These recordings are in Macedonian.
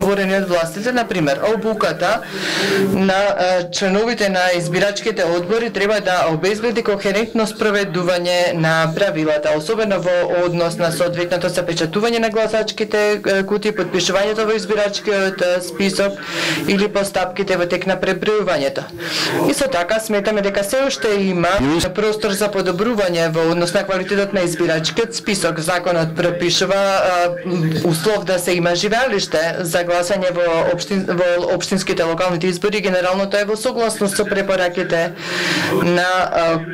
говорени од властите, например, обуката на членовите на избирачките одбори треба да обезбеди кохерентно спроведување на правилата, особено во однос на соодветното запечатување на гласачките кутии, подпишувањето во избирачкиот список или постапките во тек на пребројувањето. Исто така сметаме дека се уште има простор за подобрување во однос на квалитетот на избирачкиот список. Законот пропишува услов да се има живеалиште за гласање во општинските локалните избори. Генерално тоа е во согласност со препораките на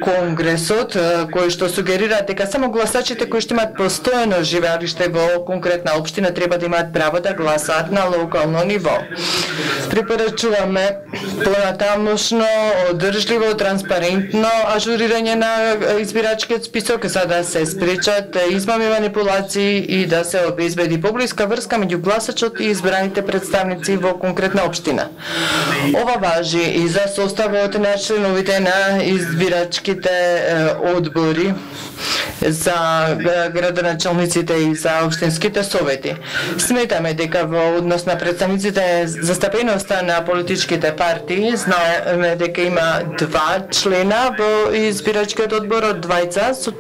Конгресот, кои што сугерираат дека само гласачите кои што имаат постојано живеалиште во конкретна општина треба да имаат право да гласаат на локално ниво. Препорачуваме понатамошно, одржливо, транспарентно ажурирање на избирачкиот список за да се спречат измами, манипулации и да се обезбеди поблиска врска меѓу гласачот и избраните представници во конкретна општина. Ова важи и за составот на членовите на избирачките одбори, за градоначалниците и за општинските совети. Сметаме дека во однос на представниците застапеноста на политичките партии, знаеме дека има 2 члена во избирачкиот одбор од двајца, со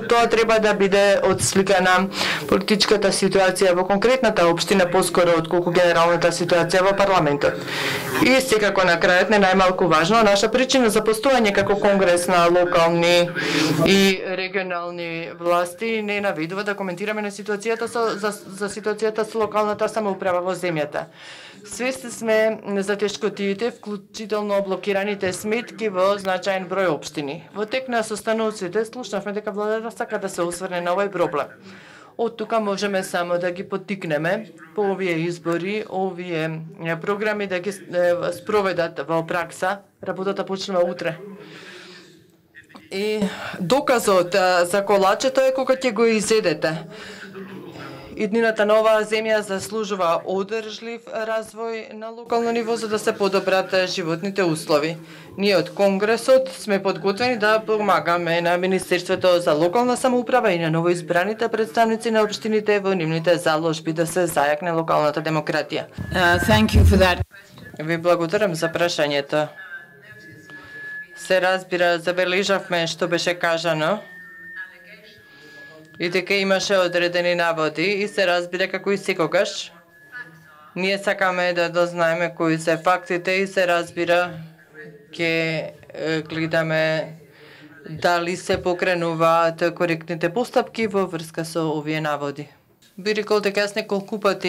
тоа треба да биде отсликана политичката ситуација во конкретната општина поскоро отколку генералната ситуација во парламентот. И секако на крајот, не најмалку важно, наша причина за постојање како конгрес на локални и регионални власти не наведува да коментираме на ситуацијата за ситуацијата со локалната самоуправа во земјата. Свесни сме за тешкотиите, вклучително блокираните сметки во значаен број општини. Во тек на состаноците слушнавме дека владата сака да се осврне на овој проблем. Од тука можеме само да ги поттикнеме по овие избори, овие програми да ги спроведат во пракса. Работата почнува утре. И доказот за колачето е кога ќе го изедете. Иднината на оваа земја заслужува одржлив развој на локално ниво за да се подобрат животните услови. Ние од Конгресот сме подготвени да помагаме на Министерството за локална самоуправа и на новоизбраните представници на општините во нивните заложби да се зајакне локалната демократија. Thank you for that. Ви благодарам за прашањето. Се разбира, забележавме што беше кажано и дека имаше одредени наводи и се разбира како и секогаш. Ние сакаме да дознаеме кои се фактите и се разбира ќе гледаме дали се покренуваат коректните постапки во врска со овие наводи. Би рекол дека јас неколку пати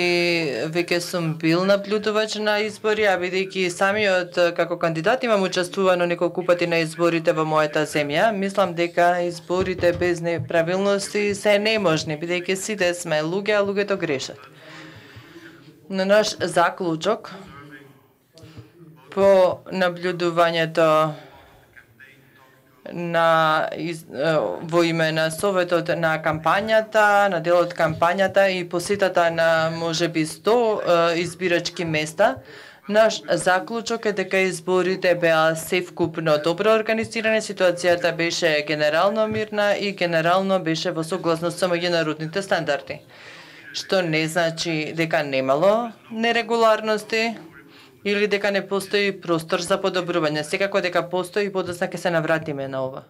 веќе сум бил наблюдувач на избори, а бидејќи самиот како кандидат имам учествувано неколку пати на изборите во мојата земја, мислам дека изборите без неправилности се неможни, бидејќи сите сме луѓе, а луѓето грешат. На наш заклучок по наблюдувањето во име на советот на кампањата, на делот кампањата и посетата на можеби 100 избирачки места, наш заклучок е дека изборите беа севкупно добро организирани, ситуацијата беше генерално мирна и генерално беше во согласност со меѓународните стандарди. Што не значи дека немало нерегуларности или дека не постои простор за подобрување. Секако дека постои и подоцна ќе се навратиме на ова.